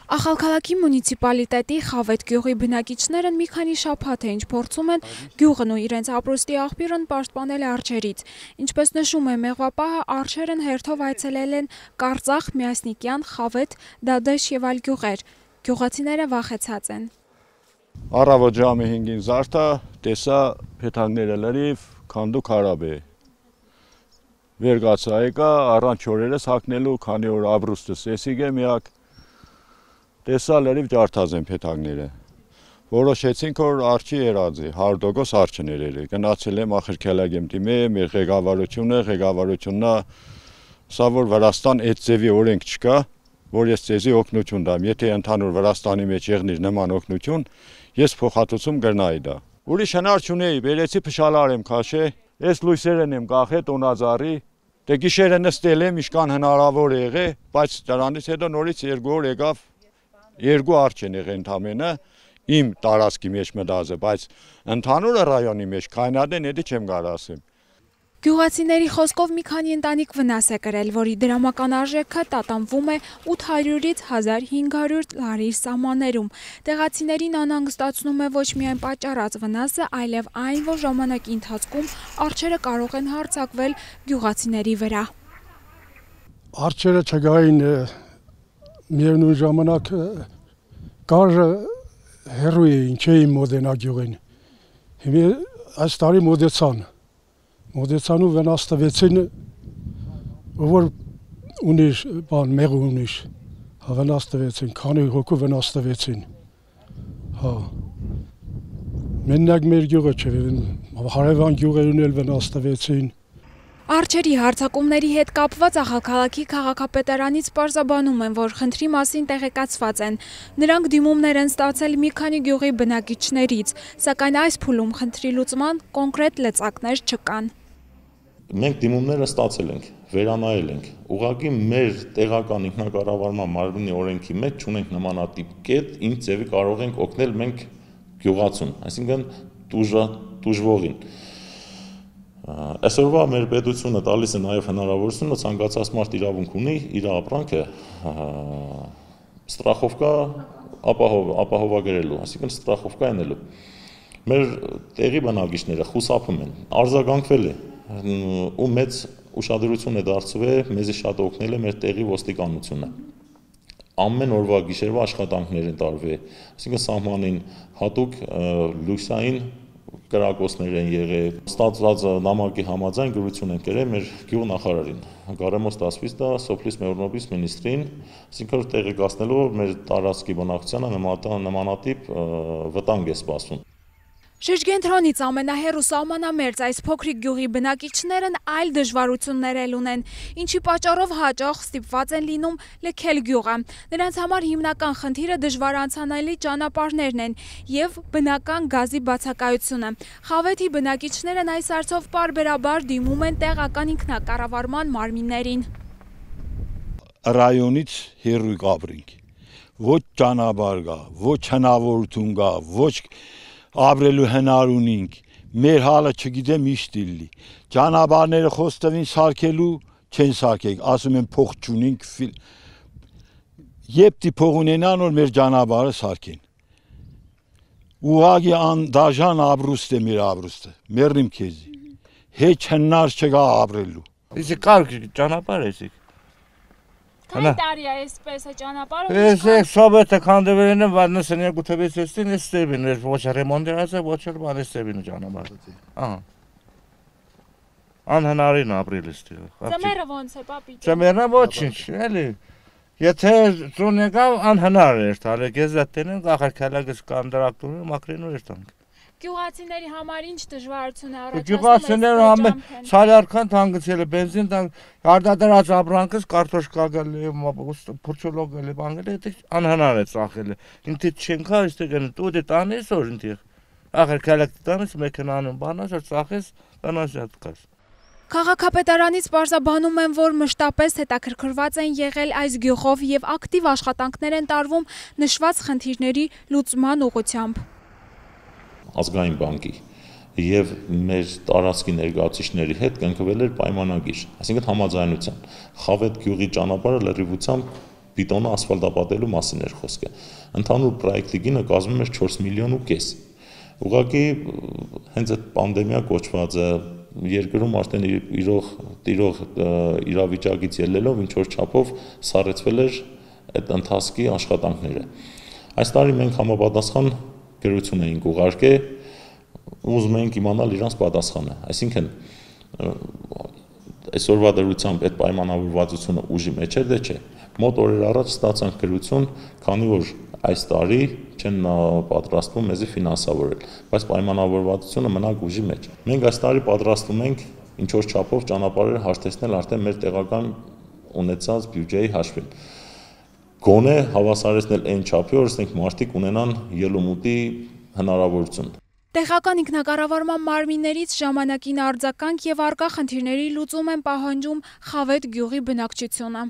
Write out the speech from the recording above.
Ախալքալաքի մունիցիպալիտետի Խավետ գյուղի բնակիչներն մի քանի շաբաթ է ինչ փորձում են գյուղն ու իրենց ապրուստի աղբյուրն պաշտպանել արջերից։ Ինչպես նշում է մեղվապահը, արջերն հերթով այցելել են Կարծախ, Միասնիկյան, Խավետ, Դադեշ եւ այլ գյուղեր։ Գյուղացիները վախեցած են։ Առավոտ ժամը 5-ին զարթա, տեսա փեթակները լրիվ, քանդու քարաբ է։ Վերգացա եկա, առանց օրերս հագնելու, քանի որ ապրուստս էսիգ է միակ։ Տեսա լրիվ ջարդած են փեթակները։ Որոշեցինք, որ արջի երած է, 100% արջը ներել է։ Գնացել եմ Ախալքալակի դիմե, մեր ղեկավարությունն սա որ Վրաստան այդ ձևի օրենք չկա, որ ես ձեզի օգնություն տամ։ Եթե ընդհանուր Վրաստանի մեջ եղնիր նման օգնություն, ես փոխհատուցում կրնայի դա։ Ուրիշ հնար չունեի, բերեցի փշալար եմ քաշե, ես լույսերն եմ կախե տոնազարի, դե գիշերը նստել եմ, իշքան հնարավոր է եղե, բայց դրանից հետո նորից 2 օր եկավ, 2 արջ են եղել ընդամենը իմ տարածքի մեջ մտածը, բայց ընդհանուր ռայոնի մեջ քայնադեն էդի չեմ կարող ասեմ։ Գյուղացիների խոսքով մի քանի ընտանիք վնաս է կրել, որի դրամական արժեքը տատանվում է 800-ից 1500 լարի սահմաններում։ Տեղացիներին անհանգստացնում է ոչ միայն պատճառած վնասը, այլև այն, որ ժամանակի ընթացքում արջերը կարող են հարձակվել գյուղացիների վրա։ Արջերը չգային միևնույն ժամանակ կար հեռու էին, չէին մոտենա գյուղին։ Հիմա այս տարի մոտեցան ու վնաս տվեցին, որ ունիր բան մեղ ունիր, վնաս տվեցին, քանի հոգու վնաս տվեցին։ Հա։ Մենակ մեր գյուղը չէ, հարևան գյուղերին էլ վնաս տվեցին։ Արջերի հարձակումների հետ կապված Ախալքալաքի քաղաքապետարանից պարզաբանում են, որ խնդրի մասին տեղեկացված են։ Նրանք դիմումներ են ստացել մի քանի գյուղի բնակիչներից, սակայն այս փուլում խնդրի լուծման կոնկրետ լծակներ չկան։ Մենք դիմումները ստացել ենք, վերանայել ենք, ուղղակի մեր տեղական ինքնակառավարման մարմնի օրենքի մեջ չունենք նմանատիպ կետ, ինչ ձևի կարող ենք օգնել մենք գյուղացուն, այսինքն տուժվողին։ Այսօրվա մեր պետությունը տալիս է նաև հնարավորությունը ցանկացած մարդ իրավունք ունի իր ապրանքը ստրախովկա ապահովագրելու, այսինքն ստրախովկա անելու։ Մեր տեղի բնակիչները խուսափում են, արձագանքվել է ու մեծ ուշադրություն է դարձվել, մեզի շատ օգնել է մեր տեղի ոստիկանությունը։ Ամեն օրվա գիշերվա աշխատանքներ են տարվել, այսինքն սահմանին հատուկ լույսային կրակոցներ են եղել, ստացված նամակի համաձայն գրություն են կրել մեր գյուղնախարարին, Գարեմոս Տասվիստա, Սոփլիս Մեորնոբիս մինիստրին, այսինքն տեղեկացնելով մեր տարածքի բնակչությանը նմանատիպ վտանգ է սպասվում։ Շրջենտրոնից ամենահեռու սահմանամերձ այս փոքրիկ գյուղի բնակիչներն այլ դժվարություններ էլ ունեն, ինչի պատճառով հաճախ ստիպված են լինում լքել գյուղը։ Նրանց համար հիմնական խնդիրը դժվար անցանելի ճանապարհներն են եւ բնական գազի բացակայությունը։ Խավեթի բնակիչներն այս հարցով պարբերաբար դիմում են տեղական ինքնակառավարման մարմիններին։ Ռայոնից հեռու կապրինք։ Ոչ ճանապարհ կա, ոչ հնարավորություն կա, ոչ ապրելու հնար ունենք, մեր հալը չգիտեմ ինչ դիլի, ճանապարհները խոստովին սարքելու չեն սարքել, ասում են փող չունենք, եփտի փող ունենան որ մեր ճանապարհը սարքեն։ Ուղղակի անդաժան ապրուստ է մեր ապրուստը, մեռնիմ քեզի, հեչ հնար չկա ապրելու։ Իսկ կարգ ճանապարհ է։ Քանի տարի է այսպես է ճանապարհը։ Ես սոբեթը քանդվել եմ, վարնասն երկու թվեցին, ստեբին էր ոչ ռեմոնտացիա, ոչ էլ բան ստեբին ճանապարհը։ Ահա։ Անհնարին ապրել ստեղ։ Ձմեռը ոնց է, պապի։ Ձմեռը ոչինչ, էլի։ Եթե ծուն եկավ անհնար էր տալը, գեզատենեն Ախալքալակից կանդրակտուրը մակրինու էր տանք։ Գյուղացիների համար ինչ դժվարություն է առաջացնում։ Գյուղացիները ամեն սալարքան թանկացել է, բենզին տանք, արդադրած ապրանքից կարտոշկա գալի, փուրչոլոգ գալի, բանգել է, դա անհնար է ծախել։ Ինձ չեն կա, այստեղ են տուդի տանես որ ինձ։ Ախալքալակի տանես մեքենանում բանաս որ ծախես, տանասյատ կաս։ Քաղաքապետարանից պարզաբանում են, որ մշտապես հետաքրքրված են եղել այս գյուղով եւ ակտիվ աշխատանքներ են տարվում նշված խնդիրների լուծման ուղղությամբ։ Ազգային բանկի եւ մեր տարածքի ներկայացուցիչների հետ կնքվել էր պայմանագիր, այսինքն համաձայնության։ Խավետ գյուղի ճանապարհը լրիվությամբ բիտոնը ասֆալտապատելու մասին էր խոսքը։ Ընդհանուր պրոյեկտի գինը կազմում էր 4,5 միլիոն։ Ուղղակի հենց այդ պանդեմիա կոչվածը երկրում արդեն տիրող իրավիճակից ելնելով ինչ որ չափով սառեցվել էր այդ ընթացքի աշխատանքները։ Այս տարի մենք համապատասխան գրություն էինք ուղարկել, ուզում էինք իմանալ իրանց պատասխանը, այսինքն այսօրվա դրությամբ այդ պայմանավորվածությունը ուժի մեջ էր, դե չէ։ Մոտ օրեր առաջ ստացանք գրություն, քանի որ այս տարի չեն պատրաստվում մեզի ֆինանսավորել, բայց պայմանավորվածությունը մնաք ուժի մեջ։ Մենք այս տարի պատրաստվում ենք ինչ որ չափով ճանապարհները հարթեցնել արդեն մեր տեղական ունեցած բյուջեի հաշվին։ Գոնե հավասարեցնել այն չափի, որ ասենք մարդիկ ունենան ելումուտի հնարավորություն։ Տեղական ինքնակառավարման մարմիններից ժամանակին արձագանք եւ առկա խնդիրների լուծում են պահանջում Խավեթ գյուղի բնակչությունը։